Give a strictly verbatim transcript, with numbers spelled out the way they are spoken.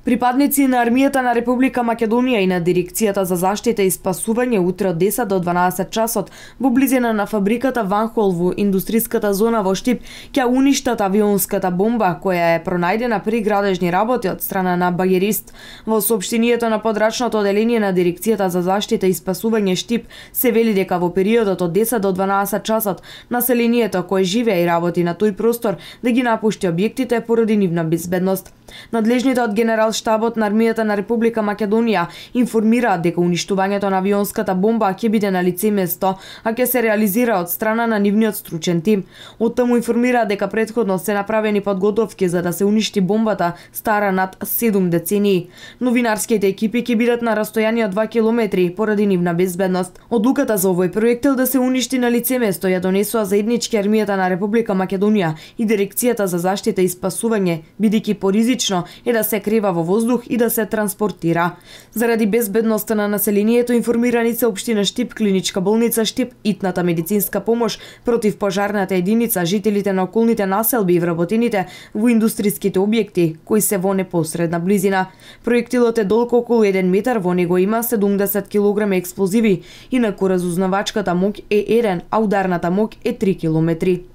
Припадници на армијата на Република Македонија и на Дирекцијата за заштита и спасување утре од десет до дванаесет часот во близина на фабриката Ванхол во индустриската зона во Штип ќе уништат авионската бомба која е пронајдена при градежни работи од страна на багерист. Во соопштението на подрачното оделение на Дирекцијата за заштита и спасување Штип се вели дека во периодот од десет до дванаесет часот населението кое живее и работи на тој простор да ги напушти објектите поради нивна безбедност. Надлежните од генерал штабот на армијата на Република Македонија информираат дека уништувањето на авионската бомба ќе биде на лице место, а ќе се реализира од страна на нивниот стручен тим. Оттаму информираат дека претходно се направени подготовки за да се уништи бомбата стара над седум децении. Новинарските екипи ќе бидат на растојание од два километри поради нивна безбедност. Одлуката за овој проектил да се уништи на лице место ја донесоа заеднички армијата на Република Македонија и Дирекцијата за заштита и спасување, бидејќи поризично е да се крива во воздух и да се транспортира. Заради безбедноста на населението информирани се општина Штип, клиничка болница Штип, итната медицинска помош, противпожарната единица, жителите на околните населби и вработените во индустриските објекти кои се во непосредна близина. Проектилот е долг околу еден метар, во него има седумдесет килограми експлозиви, инаку разузнавачката моќ е еден, а ударната моќ е три километри.